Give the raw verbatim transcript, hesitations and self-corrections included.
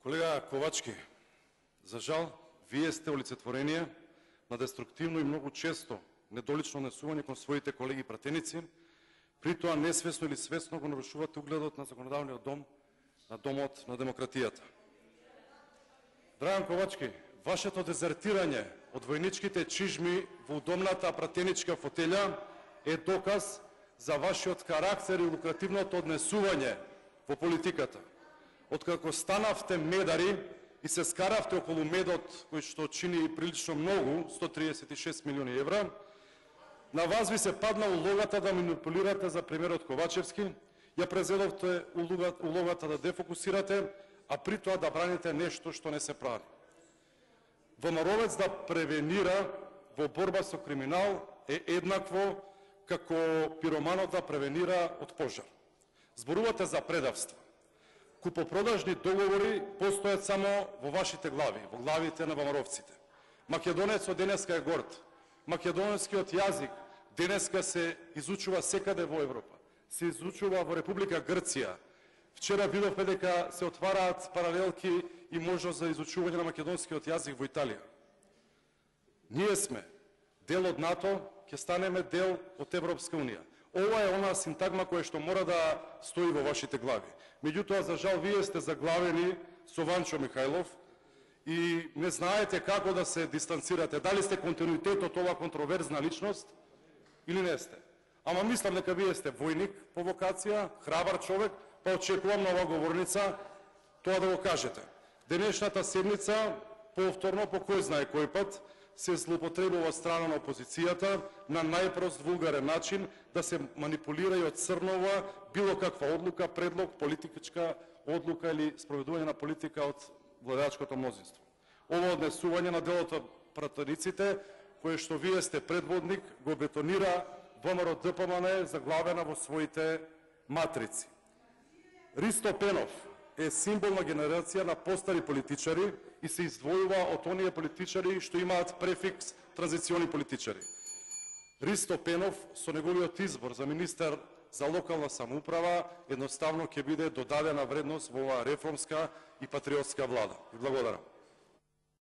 Колега Ковачки, за жал, вие сте олицетворение на деструктивно и многу често недолично однесување кон своите колеги пратеници, при тоа несвесно или свесно го нарушувате угледот на законодавниот дом, на домот на демократијата. Драган Ковачки, вашето дезертирање од војничките чижми во удобната пратеничка фотелја е доказ за вашиот карактер и лукративното однесување во политиката. Откако станавте медари и се скаравте околу медот кој што чини прилично многу, сто триесет и шест милиони евра, на вас ви се падна улогата да манипулирате за премиерот Ковачевски, ја презедовте улогата да дефокусирате, а при тоа да браните нешто што не се прави. ВМРО-вец да превенира во борба со криминал е еднакво како пироманот да превенира од пожар. Зборувате за предавство. Купопродажни договори постојат само во вашите глави, во главите на ВМРО-вците. Македонецот денеска е горд. Македонскиот јазик денеска се изучува секаде во Европа. Се изучува во Република Грција. Вчера видовме дека се отвараат паралелки и можност за изучување на македонскиот јазик во Италија. Ние сме дел од НАТО, ќе станеме дел од Европска унија. Ова е она синтагма која што мора да стои во вашите глави. Меѓутоа, за жал, вие сте заглавени со Ванчо Михајлов и не знаете како да се дистанцирате. Дали сте континуитет од ова контроверзна личност или не сте? Ама мислам дека вие сте војник по вокација, храбар човек, па очекувам на оваа говорница тоа да го кажете. Денешната седница, повторно по кој знае кој пат, се злоупотребува од страна на опозицијата на најпрост вулгарен начин да се манипулира и одцрнува било каква одлука, предлог, политичка одлука или спроведување на политика од владеачкото мнозинство. Ова однесување на делот од пратениците, кое што вие сте предводник, го бетонира ВМРО-ДПМН заглавена во своите матрици. Ристо Пенов е символ на генерација на постари политичари и се издвојува од оние политичари што имаат префикс транзициони политичари. Ристо Пенов со неговиот избор за министер за локална самоуправа едноставно ќе биде додадена вредност во оваа реформска и патриотска влада. И благодарам.